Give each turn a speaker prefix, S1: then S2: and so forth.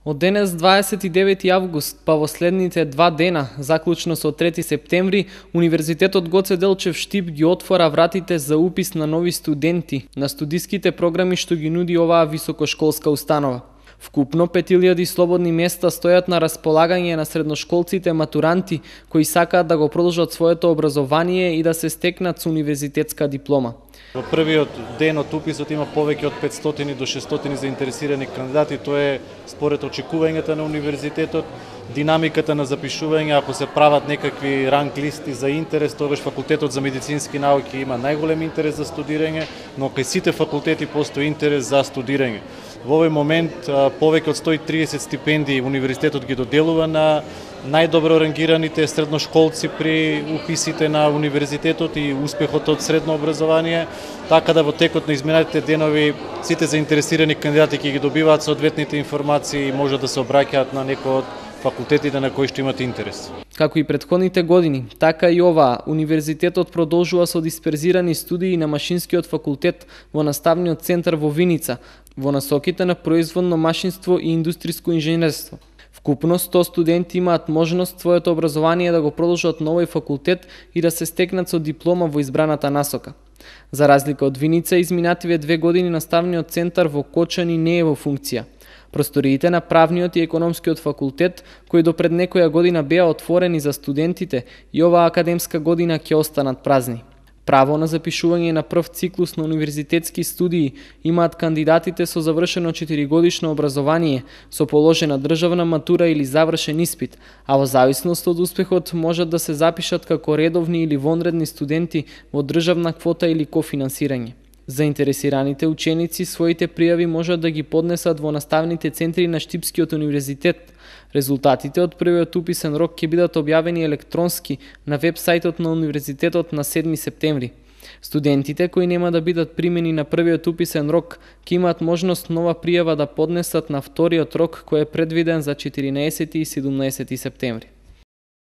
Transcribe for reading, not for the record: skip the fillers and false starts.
S1: Од денес 29 август, па во следните 2 дена, заклучно со 3 септември, Универзитетот Гоце Делчев Штип ги отвора вратите за упис на нови студенти на студиските програми што ги нуди оваа високошколска установа. Вкупно 5000 слободни места стојат на располагање на средношколците матуранти кои сакаат да го продолжат своето образование и да се стекнат со универзитетска диплома.
S2: Во првиот ден од уписот има повеќе од 500 до 600 заинтересирани кандидати. Тоа е според очекувањата на универзитетот, динамиката на запишување. Ако се прават некакви ранг листи за интерес, тогаш факултетот за медицински науки има најголем интерес за студирање, но кај сите факултети постои интерес за студирање. Во овој момент повеќе од 130 стипендии универзитетот ги доделува на најдобро рангираните средношколци при уписите на универзитетот и успехот од средно образование, така да во текот на изминатите денови сите заинтересирани кандидати ќе ги добиваат соодветните информации и можат да се обраќаат на некој од факултетите на кои што имат интерес.
S1: Како и претходните години, така и оваа, универзитетот продолжува со дисперзирани студии на Машинскиот факултет во наставниот центар во Виница, во насоките на производно машинство и индустријско инженерство. Вкупно 100 студенти имаат можност своето образование да го продолжат на овој факултет и да се стекнат со диплома во избраната насока. За разлика од Виница, изминативе 2 години наставниот центар во Кочани не е во функција. Просториите на правниот и економскиот факултет, кои до пред некоја година беа отворени за студентите, и оваа академска година ќе останат празни. Право на запишување на прв циклус на универзитетски студии имаат кандидатите со завршено 4-годишно образование, со положена државна матура или завршен испит, а во зависност од успехот можат да се запишат како редовни или вонредни студенти во државна квота или кофинансирање. Заинтересираните ученици своите пријави можат да ги поднесат во наставните центри на Штипскиот универзитет. Резултатите од првиот уписен рок ќе бидат објавени електронски на веб-сајтот на универзитетот на 7 септември. Студентите кои нема да бидат примени на првиот уписен рок ќе имаат можност нова пријава да поднесат на вториот рок кој е предвиден за 14 и 17 септември.